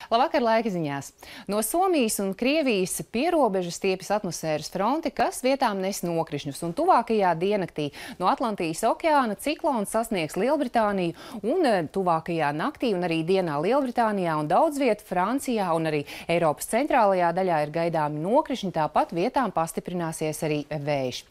Labvakar, laika ziņās. No Somijas un Krievijas pierobežas stiepjas atmosfēras fronte, kas vietām nes nokrišņus, un tuvākajā diennaktī no Atlantijas okeāna ciklons sasniegs Lielbritāniju, un tuvākajā naktī un arī dienā Lielbritānijā un daudz vietu Francijā un arī Eiropas centrālajā daļā ir gaidāmi nokrišņi, tāpat vietām pastiprināsies arī vējš.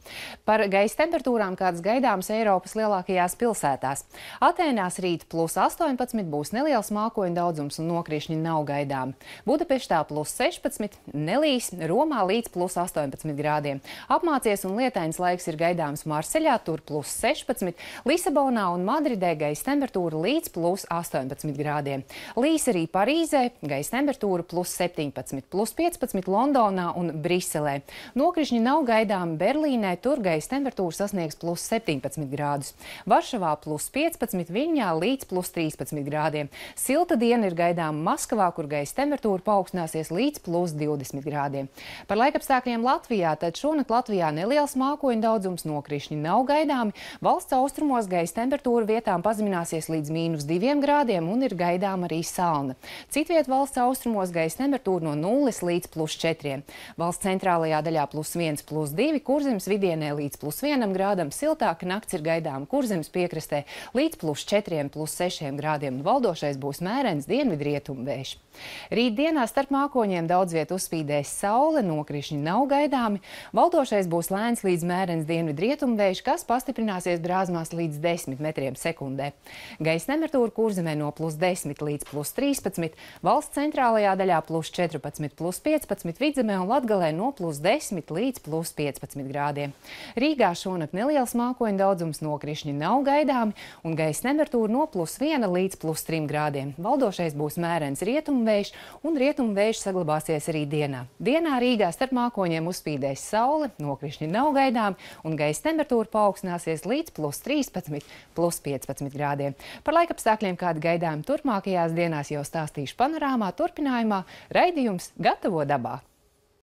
Par gaisa temperatūrām, kādas gaidāmas Eiropas lielākajās pilsētās. Atēnās rīt +18 būs neliels mākoņu daudzums un nokrišņi nav gaidāmi. Budapeštā +16, nelīs, Romā līdz +18 grādiem. Apmācies un lietains laiks ir gaidāms Marseļā, tur +16, Lisabonā un Madridē gaisa temperatūra līdz +18 grādiem. Līs arī Parīzē, gaisa temperatūra +17, +15 Londonā un Briselē. Nokrišņi nav gaidāmi Berlīnē, tur gaisa temperatūra sasniegs +17 grādus. Varšavā +15, Viļņā līdz +13 grādiem. Silta diena ir gaidāma Maskavā, kur gaisa temperatūra paaugstināsies līdz +20 grādiem. Par laikapstākļiem Latvijā, tad šonakt Latvijā neliels mākoņu daudzums, nokrišņi nav gaidāmi. Valsts austrumos gaisa temperatūra vietām pazemināsies līdz -2 grādiem un ir gaidāma arī salna. Citviet valsts austrumos gaisa temperatūra no 0 līdz +4. Valsts centrālajā daļā +1, +2, Kurzemes vidienē līdz +1 grādam, siltāka nakts ir gaidāma Kurzemes piekrastē līdz +4, +6 grādiem un valdošais būs mērens dienvidrietumu vējš. Rīt dienā starp mākoņiem daudz viet uzspīdēs saule, nokrišņi nav gaidāmi. Valdošais būs lēns līdz mērens dienvidrietumu vējš, kas pastiprināsies brāzmās līdz 10 metriem sekundē. Gaisa temperatūra Kurzemē no +10 līdz +13, valsts centrālajā daļā +14, +15, Vidzemē un Latgalē no +10 līdz +15 grādiem. Rīgā šonakt neliels mākoņu daudzums, nokrišņi nav gaidāmi un gaisa temperatūra no +1 līdz +3 grādiem. Valdošais būs mērens rietumu vējš, un rietumu vējš saglabāsies arī dienā. Dienā Rīgā starp mākoņiem uzspīdēs saule, nokrišņi nav gaidāmi un gaisa temperatūra paaugstināsies līdz +13, +15 grādiem. Par laikapstākļiem, kādi gaidāmi turpmākajās dienās, jau stāstīšu panorāmā turpinājumā. Raidījums Gatavo dabā!